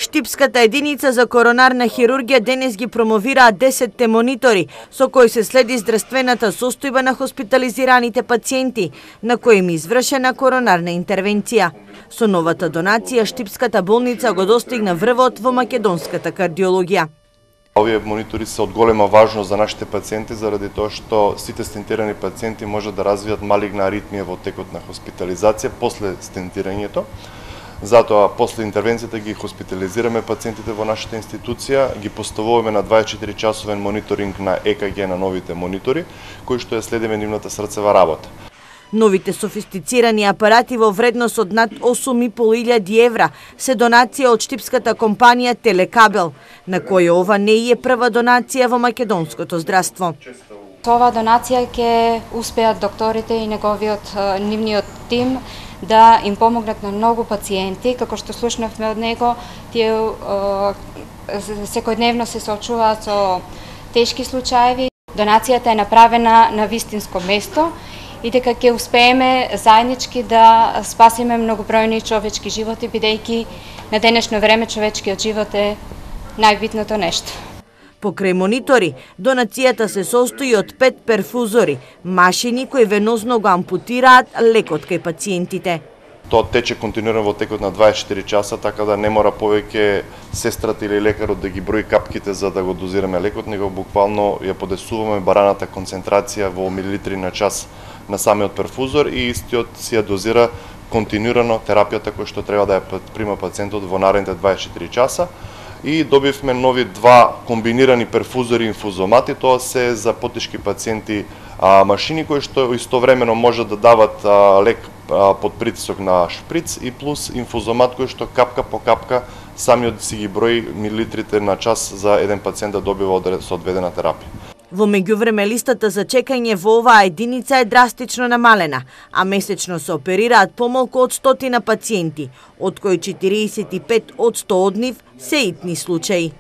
Штипската единица за коронарна хирургија денес ги промовираат 10 монитори со кои се следи здравствената состојба на хоспитализираните пациенти на кои им извршена коронарна интервенција. Со новата донација Штипската болница го достигна врвот во македонската кардиологија. Овие монитори се од голема важност за нашите пациенти заради тоа што сите стентирани пациенти можат да развијат малигна аритмија во текот на хоспитализација после стентирањето. Затоа, после интервенцијата ги хоспитализираме пациентите во нашата институција, ги поставуваме на 24-часовен мониторинг на ЕКГ на новите монитори, кои што ја следиме нивната срцева работа. Новите софистицирани апарати во вредност од над 8.500 евра се донација од штипската компанија Телекабел, на која ова не е прва донација во македонското здравство. Со оваа донација ќе успеат докторите и нивниот тим да им помогнат на многу пациенти, како што слушнавме од него, тие секојдневно се соочуваат со тешки случаеви. Донацијата е направена на вистинско место и дека ќе успееме заеднички да спасиме многобројни човечки животи, бидејќи на денешно време човечкиот живот е најбитното нешто. Покрај монитори, донацијата се состои од 5 перфузори, машини кои венозно го ампутираат лекот кај пациентите. Тоа тече континуирано во текот на 24 часа, така да не мора повеќе сестрата или лекарот да ги брои капките за да го дозираме лекот, него буквално ја подесуваме бараната концентрација во милилитри на час на самиот перфузор и истиот си ја дозира континуирано терапијата која што треба да ја прима пациентот во наредните 24 часа. И добивме нови 2 комбинирани перфузори инфузомати, тоа се за потешки пациенти машини кои што истовремено можат да дават лек под притисок на шприц и плюс инфузомат кој што капка по капка самиот си ги брои милилитрите на час за еден пациент да добива соодветена терапија. Во меѓувреме листата за чекање во оваа единица е драстично намалена, а месечно се оперираат помалку од 100 пациенти, од кои 45% од нив се итни случаи.